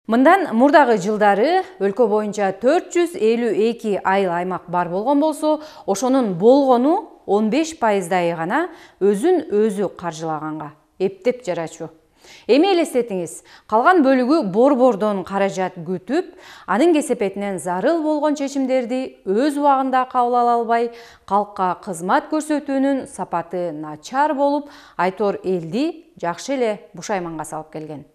Мындан мурдагы жылдары өлкө боюнча 452 айыл аймак бар болгон болсо, ошонун болгону 15% гана өзүн өзү каржылаганга эптеп жарачу. Эми элестетиңиз, калган бөлүгү борбордон каражат күтүп, анын кесепетинен зарыл болгон чечимдерди өз убагында кабыл ала албай, калкка кызмат көрсөтүүнүн сапаты начар болуп, айтор элди жакшы эле бушайманга салып келген.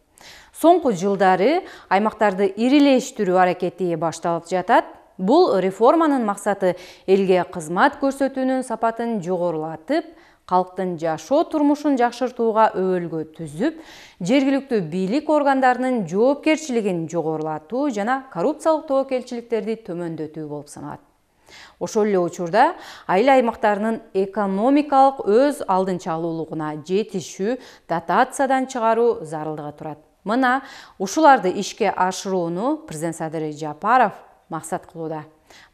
Соңку жылдары аймактарды ирилештирүү аракети башталып жатат. Бул реформанын максаты элге кызмат көрсөтүүнүн сапатын жогорулатып, калктын жашоо турмушун жакшыртууга өбөлгө түзүп, жергиликтүү бийлик органдарынын жоопкерчилигин жогорулатуу жана коррупциялык тобокелчиликтерди төмөндөтүү болуп саналат. Ошол эле учурда айыл аймактарынын экономикалык өз алдынча алуулугуна жетишүү, дотациядан чыгаруу зарылдыгы турат. Мына ушуларды ишке ашырууну президент Садыр Жапаров максат кылууда.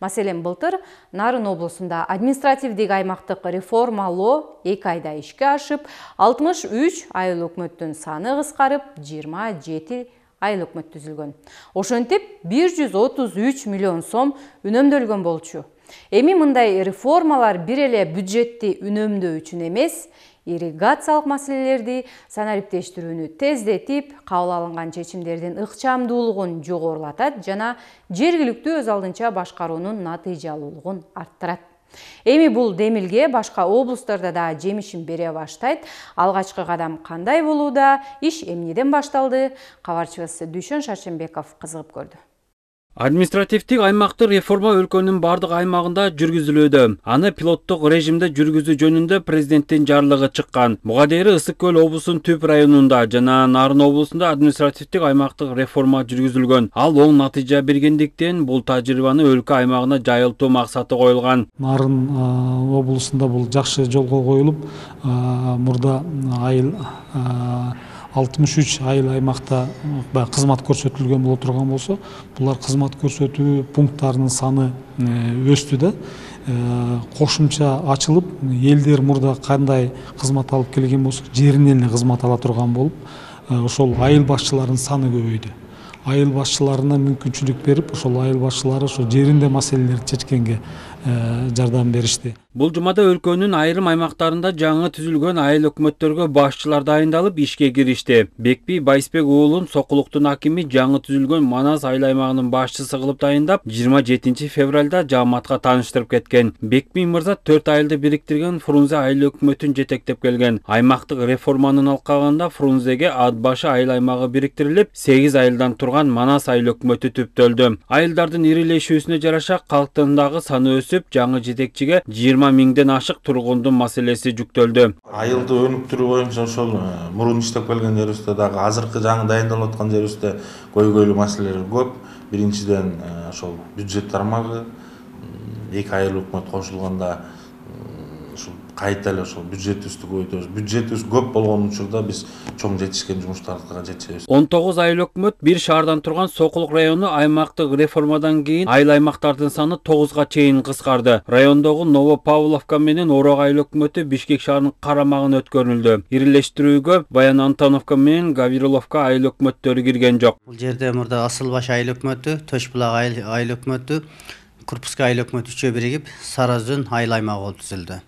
Маселен, былтыр Нарын облусунда административдик аймактык реформалоо 2 айда ишке ашып, 63 айыл өкмөттүн саны кыскарып, 27 айыл өкмөт түзүлгөн. Ошентип 133 миллион сом үнөмдөлгөн болчу. Эми мындай реформалар бир эле бюджетти үнөмдөө үчүн эмес, ирригациялык маселелерди санариптештирүүнү тездетип, кабыл алынган чечимдердин ыкчамдуулугун жогорулатат жана жергиликтүү өз алдынча башкаруунун натыйжалуулугун арттырат. Эми бул демилге башка облустарда да жемишин бере баштайт. Алгачкы кадам кандай болууда, иш эмнеден башталды? Кабарчыбыз Дүйшөн Шарченбеков кызыгып көрдү. Административдик аймактык реформа өлкөнүн бардык аймагында жүргүзүлүүдө. Аны пилоттук режимде жүргүзүү жөнүндө президенттин жарлыгы чыккан. Буга дейин Ысык көл облусунун Түп районунда жана Нарын облусунда административдик аймактык реформа жүргүзүлгөн. Ал оң натыйжа бергендиктен бул тажрыйбаны өлкө аймагына жайылтуу максаты коюлган. Нарын облусунда бул жакшы жолго коюлуп, мурда айыл 63 айыл аймакта кызмат көрсөтүлгөн боло турган болсо, булар кызмат көрсөтүү пункттарынын саны өстү да. Кошумча ачылып, элдер мурда кандай кызмат алып келген болсо, жеринен эле кызмат ала турган болуп, ошол айыл башчыларынын саны көбөйдү. Айыл башчыларына мүмкүнчүлүк берип, ошол айыл башчылары ошо жеринде маселелерди чечкенге жардам беришти. Бул жумада өлкөнүн айрым аймактарында жаңы түзүлгөн айыл өкмөттөргө башчылар дайындалып ишке киришти. Бекби Байсбек уулун Сокулуктун акими жаңы түзүлгөн Манас айыл аймагынын башчысы кылып дайындап, 27 февралда жааматка тааныштырып кеткен. Бекби мырза 4 айылды бириктирген Фрунзе айыл өкмөтүн жетектеп келген. Аймактык реформанын алкагында Фрунзеге Ат башы айыл аймагы бириктирилип, 8 айылдан турган Манас айыл өкмөтү түптөлдү. Айылдардын ирилешүүсүнө жараша калктын дагы саны өсүп, жаңы жетекчиге 20 миңден ашык тургундун маселеси жүктөлдү. Айылды өнүктүрүү боюнча ошол мурун иштеп келген жерибизде дагы азыркы жаңы дайындалып аткан жерибизде көйгөйлүү маселелер көп. Биринчиден ошол бюджет тармагы 2 айыл өкмөт кошулганда ушул кайта эле ошол бюджетибизди көбөйтөбүз. Бюджетибиз көп болгон учурда биз чоң жетишкен жумуштарга жетишебиз. 19 айыл өкмөт бир шаардан турган Сокулук району аймактык реформадан кийин айыл аймактардын саны 9га чейин кыскарды. Райондогу Новопавловка менен Орог айыл өкмөтү Бишкек шаарынын карамагына өткөрүлдү. Ирилештирүүгө Баян Антоновка менен Гавриловка айыл өкмөттөрү кирген жок. Бул жерде мурда Асылбаш айыл өкмөтү, Төшбулак айыл өкмөтү, Курпуска айыл өкмөтү үчөө биригип Саразөн айыл аймагы болуп түзүлдү.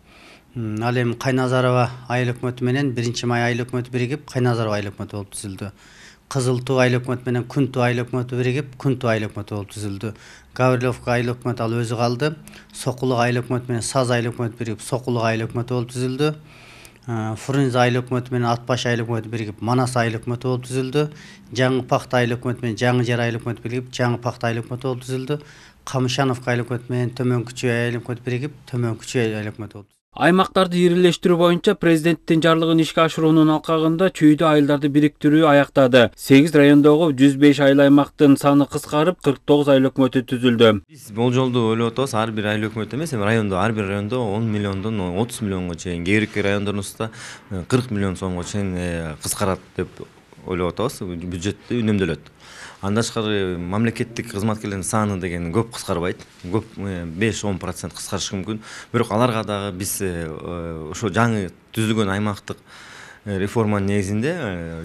Ал эми Кайназарова айыл өкмөтү менен 1-май айыл өкмөтү биригип Кайназарова айыл өкмөтү болуп түзүлдү. Кызыл Туу айыл өкмөтү менен Күнту айыл өкмөтү биригип Күнту айыл өкмөтү болуп түзүлдү. Гавриловка айыл өкмөтү ал өзү калды. Сокулук айыл өкмөтү менен Саз айыл өкмөтү биригип Сокулук айыл өкмөтү болуп түзүлдү. Фрунзе айыл өкмөтү менен Ат башы айыл өкмөтү биригип Манас айыл өкмөтү болуп түзүлдү. Жаңы Пакта айыл өкмөтү менен Жаңы Жер айыл өкмөтү биригип Жаңы Пакта айыл өкмөтү болуп түзүлдү. Камышановка айыл өкмөтү менен Төмөнкү Чүй айыл өкмөтү биригип Төмөнкү Чүй айыл өкмөтү болуп. Аймактарды ирилештирүү боюнча президенттин жарлыгын ишке ашыруунун алкагында Чүйдө айылдарды бириктирүү аяктады. 8 райондогу 105 айыл аймактын саны кыскарып, 49 айыл өкмөтү түзүлдү. Биз болжолду ойлоп атабыз, ар бир айыл өкмөт эмес, райондо ар бир райондо 10 миллиондон 30 миллионго чейин, кээ бир райондорубузда 40 миллион сомго чейин кыскарат деп ойлоп атабыз. Бюджетти үнөмдөлөт. Андан тышкары мамлекеттик кызматкерлердин саны деген көп кыскарбайт. Көп 5-10% кыскарышы мүмкүн. Бирок аларга дагы биз ошо жаңы түзүлгөн аймактык реформанын негизинде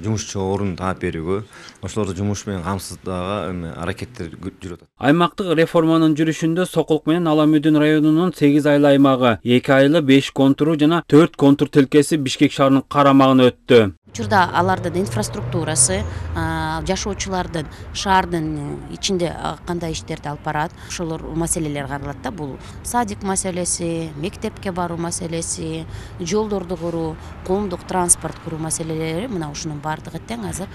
жумушчу орун таап берүүгө, ошолорду жумуш менен камсыздоого аракеттер жүрүп атат. Аймактык реформанын жүрүшүндө Сокулук менен Ала Мүдүн районунун 8 айыл аймагы, 2 айылы 5 контуру жана 4 контур тилкеси Бишкек шаарынын карамагына өттү. Учурда алардын инфраструктурасы, жашоочулардын шаардын ичинде кандай иштерди алып барат, ошолор маселелер каралат да. Бул садик маселеси, мектепке баруу маселеси, жолдорду куруу, коомдук транспорт куруу маселелери, мына ушунун баардыгы тең азыр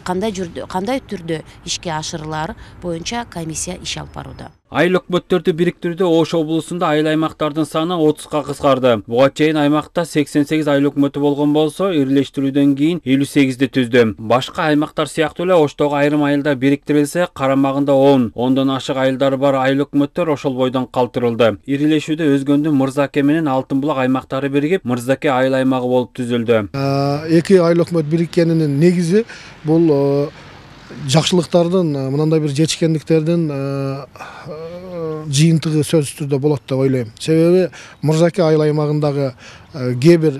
кандай түрдө ишке ашырылар боюнча комиссия иш алып барууда. Айыл өкмөттөрдү бириктирүүдө Ош облусунда айыл аймактардын саны 30га кыскарды. Буга чейин аймакта 88 айыл өкмөтү болгон болсо, ирилештирүүдөн кийин 58ди түздү. Башка аймактар сыяктуу эле Оштогу айрым айылдар бириктирилсе, карамагында 10 ашык айылдары бар айыл өкмөттөр ошол бойдон калтырылды. Ирилешүүдө Өзгөндүн Мырзаке менен Алтын булак аймактары биригип, Мырзаке айыл аймагы болуп түзүлдү. Эки айыл өкмөт бириккенинин негизи бул жакшылыктардын, мындай бир жетишкендиктердин жыйынтыгы сөзсүз түрдө болот деп ойлойм. Себеби Мырзаке айыл аймагындагы кээ бир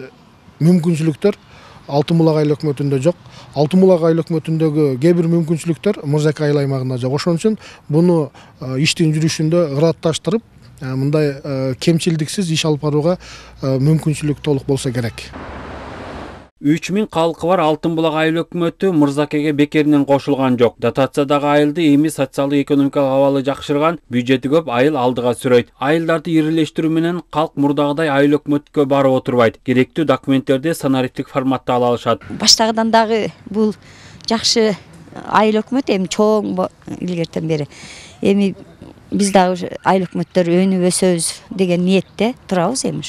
мүмкүнчүлүктөр Алтын булак айыл өкмөтүндө жок. Алтын булак айыл өкмөтүндөгү кээ бир мүмкүнчүлүктөр Мырзаке айыл аймагында жок. Ошон үчүн буну иштин жүрүшүндө ыратташтырып, мындай кемчилдиксиз иш алып барууга мүмкүнчүлүк толук болсо керек. 3000 калкы бар Алтын булак айыл өкмөтү Мырзакеге бекеринен кошулган жок. Дотациядагы айылды эми социалдык экономикалык абалы жакшырган, бюджети көп айыл алдыга сүрөйт. Айылдарды ирилештирүү менен калк мурдагыдай айыл өкмөткө барып отурбайт. Керектүү документтерди санариптик форматта ала алышат. Баштагыдан дагы бул жакшы айыл өкмөт, эми чоң илгертен бери. Эми биз дагы айыл өкмөттөр өнүп өсөбүз деген ниетте турабыз эми.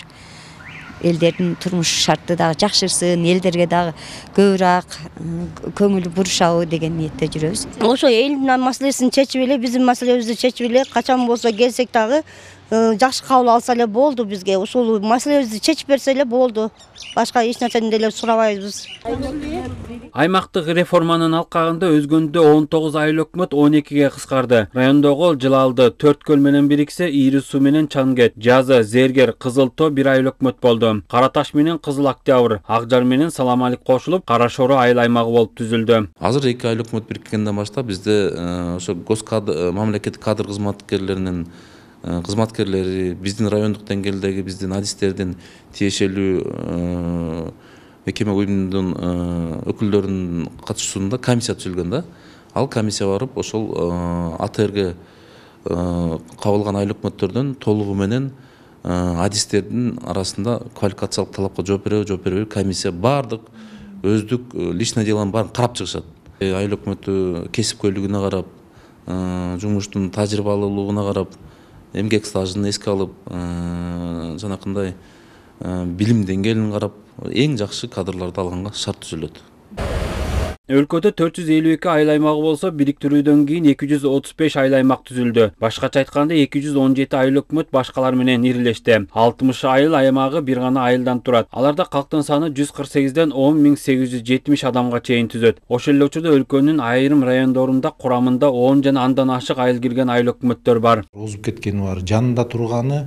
Элдердин турмуш шарты дагы жакшырсын, элдерге дагы көбүрөөк көңүл бурушабы деген ниетте жүрөбүз. Ошо элдин маселесин чечип эле, биздин маселебизди чечип эле, качан болсо келсек дагы жакшы кабыл алса эле болду бизге. Ушул маселебизди чечип берсе эле болду. Башка эч нерсени деле сурабайбыз. Аймактык реформанын алкагында Өзгөндө 19 айыл өкмөт 12ге кыскарды. Райондогу Жылалды, Төрткөл менен бириксе, Ири суу менен Чангет, Жазы, Зергер, Кызыл Тоо бир айыл өкмөт болду. Караташ менен Кызыл Октябрь, Акжар менен Саламалик кошулуп, Кара Шору айыл аймагы болуп түзүлдү. Азыр эки айыл өкмөт бириккенден баштап бизде ошо мамлекеттик кадр кызматкерлеринин кызматкерлери, биздин райондук деңгээлдеги биздин адистердин тиешелүү мекеме уюмдун өкүлдөрүнүн катышуусунда комиссия түзүлгөн да. Ал комиссия барып ошол АТРге кабылган айыл өкмөттөрдөн толугу менен адистердин арасында квалификациялык талапка жооп береби комиссия баардык өздүк личное делонун баарын карап чыгышат. Айыл өкмөтү кесипкөйлүгүнө карап, жумуштун тажрыйбалуулугуна карап, эмгек стажын эске алып, жанакындай билим деңгээлин карап, эң жакшы кадрларды алганга шарт түзүлөт. Өлкөдө 452 айыл аймагы болсо, бириктирүүдөн кийин 235 айыл аймак түзүлдү. Башкача айтканда 217 айыл өкмөт башкалар менен ирилешти. 60 айыл аймагы бир гана айылдан турат. Аларда калктын саны 148ден 10870 адамга чейин түзөт. Ошол эле учурда өлкөнүн айрым райондорунда курамында 10 жана андан ашык айыл кирген айыл өкмөттөр бар. Озуп кеткени бар, жанында турганы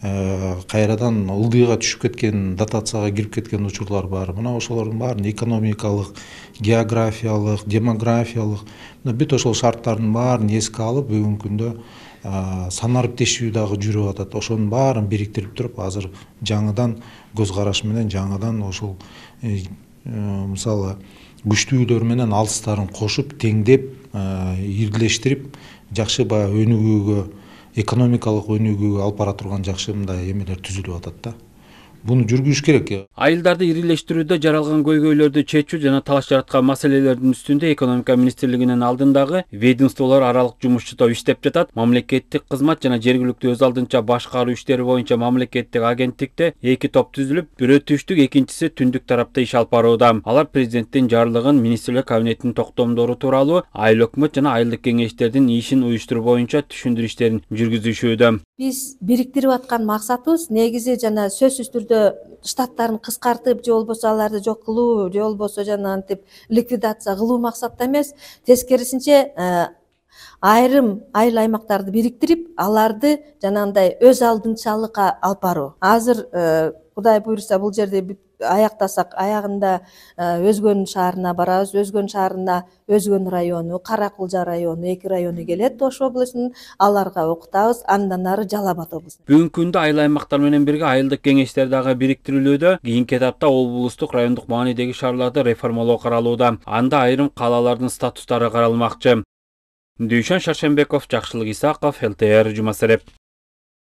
кайрадан ылдыйга түшүп кеткен, дотацияга кирип кеткен учурлар бар. Мына ошолордун баарын экономикалык, географиялык, демографиялык бүт ошол шарттардын баарын эске алып, бүгүнкү күндө санариптешүү дагы жүрүп атат. Ошонун баарын бириктирип туруп, азыр жаңыдан көз караш менен жаңыдан ошол мисалы күчтүүлөр менен алыстарын кошуп, теңдеп, ирилештирип, жакшы баягы өнүгүүгө, экономикалык өнүгүүгө алып бара турган жакшы мындай эмелер түзүлүп атат да. Буну жүргүзүш керек. Айылдарды ирилештирүүдө жаралган көйгөйлөрдү чечүү жана талаш жараткан маселелердин үстүндө экономика министрлигинин алдындагы ведомстволор аралык жумушчу топ иштеп жатат. Мамлекеттик кызмат жана жергиликтүү өз алдынча башкаруу иштери боюнча мамлекеттик агенттикте эки топ түзүлүп, бирөө түштүк, экинчиси түндүк тарапта иш алып барууда. Алар президенттин жарлыгын, министрлер кабинетинин токтомдору тууралуу айыл өкмөт жана айылдык кеңештердин ишин уюштуруу боюнча түшүндүрүү иштерин жүргүзүшүүдө. Биз бириктирип аткан максатыбыз негизи жана сөзсүз түрдө штаттарын кыскартып, же болбосо аларды жок кылуу, же болбосо жана антип ликвидация кылуу максатта эмес, тескерисинче айрым айыл аймактарды бириктирип, аларды жанагындай өз алдынчалыкка алып баруу. Азыр Кудай буйруса бул жерде аяктасак аягында Өзгөн шаарына барабыз. Өзгөн шаарына Өзгөн району, Кара Кулжа району, 2 району келет Ош облусунун. Аларга окутабыз. Андан ары Жалал Абад облусу. Бүгүнкү күндө айыл аймактар менен бирге айылдык кеңештер дагы бириктирилүүдө. Кийинки этапта облустук, райондук маанидеги шаарларды реформалоо каралууда. Анда айрым калалардын статустары каралмакчы. Дүйшөн Шаршенбеков, Жакшылык Исаков, ЛТР Жумасереп.